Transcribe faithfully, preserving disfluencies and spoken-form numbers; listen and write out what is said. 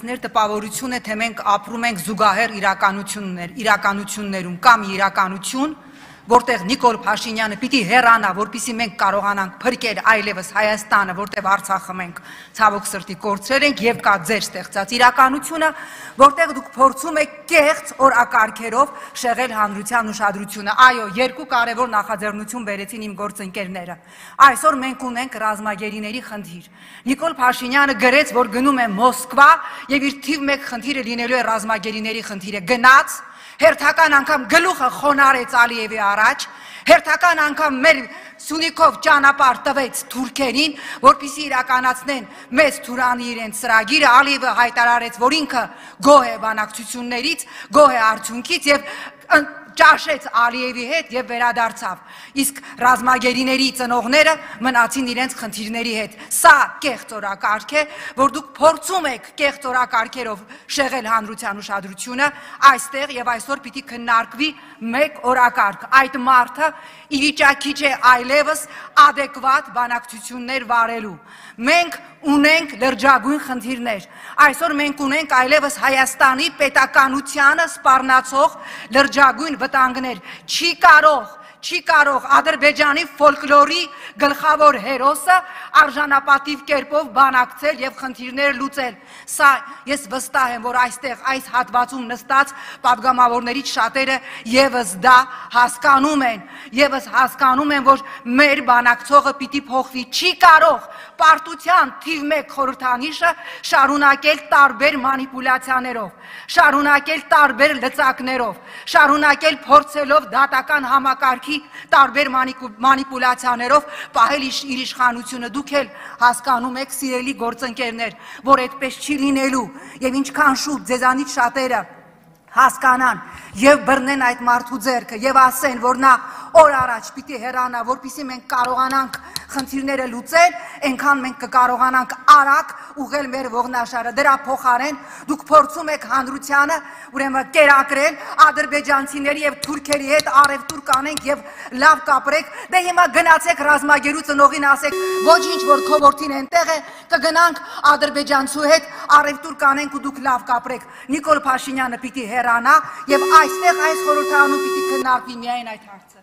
մեր տպավորություն է, թե մենք ապրում ենք զուգահեռ իրականություններ, իրականություններում կամ իրականություն, որտեղ Նիկոլ Փաշինյանը պիտի հեռանա, որպեսզի մենք կարողանանք փրկել այլևս Հայաստանը, որտեղ Արցախը մենք ցավոք սրտի կորցրել ենք, եւ կա ձեր ստեղծած իրականությունը, որտեղ դուք փորձում եք կեղծ օրակարգերով շեղել հանրության ուշադրությունը։ Այո, երկու կարևոր նախաձեռնություն բերեցին իմ գործընկերները։ Այսօր մենք ունենք ռազմագերիների խնդիր։ Նիկոլ Փաշինյանը գրեց, որ գնում է Մոսկվա եւ իր թիվ մեկ խնդիրը լինելու է ռազմագերիների խնդիրը։ Գնաց հերթական անգամ գլուխը խոնարեց Ալիևի առաջ, հերթական անգամ մեր Սյունիքով ճանապարհ տվեց թուրքերին, որպեսզի իրականացնեն մեծ Թուրանի իրենց ծրագիրը, Ալիևը հայտարարեց, որ ինքը գոհ է բանակցություններից, գոհ է արդյունքից եւ ճաշեց Ալիևի հետ եւ վերադարձավ։ Իսկ ռազմագերիների ծնողները մնացին իրենց խնդիրների հետ։ Սա կեղծ օրակարգ է, որ դուք փորձում եք կեղծ օրակարգերով շեղել հանրության ուշադրությունը, այստեղ եւ այսօր պիտի քննարկվի մեկ օրակարգ։ Այդ մարդը ի վիճակի չէ այլևս adekvat բանակցություններ վարելու։ Մենք ունենք լրջագույն խնդիրներ։ Այսօր մենք ունենք այլևս Հայաստանի պետականությանը սպառնացող լրջագույն վտանգներ։ Չի կարող Չի կարող Ադրբեջանի ֆոլկլորի գլխավոր հերոսը արժանապատիվ կերպով բանակցել եւ խնդիրներ լուծել։ Սա ես վստահ եմ, որ այստեղ այս հատվածում նստած падգամավորներից շատերը եւս դա հասկանում են, եւս հասկանում են, որ մեր բանակցողը պիտի փոխվի։ Չի կարող պարտության թիվ մեկ խորհրդանիշը շարունակել տարբեր մանիպուլյացիաներով, շարունակել տարբեր լծակներով, շարունակել փորձելով դատական համակարգի տարբեր մանիպուլյացիաներով պահել իր իշխանությունը։ Դուք էլ հասկանում եք, սիրելի գործընկերներ, որ այդպես չի լինելու եւ ինչքան շուտ ձեզանից շատերը հասկանան եւ բռնեն այդ մարդու ձեռքը եւ ասեն, որ նա օր առաջ պիտի հեռանա, որպեսզի մենք կարողանանք խնդիրները լուծել, այնքան մենք կկարողանանք արագ ուղղել մեր ողնաշարը։ Դրա փոխարեն դուք փորձում եք հանրությանը ուրեմն կերակրել ադրբեջանցիների եւ թուրքերի հետ արևտուր կանենք եւ լավ կապրեք։ Դե հիմա գնացեք ռազմագերու ծնողին ասեք, ոչինչ, որ քո որդին այնտեղ է, կգնանք ադրբեջանցու հետ արևտուր կանենք ու դուք լավ կապրեք։ Նիկոլ Փաշինյանը պիտի հեռանա եւ այստեղ այս խորհրդարանում պիտի քննարկվի միայն այդ հարցը։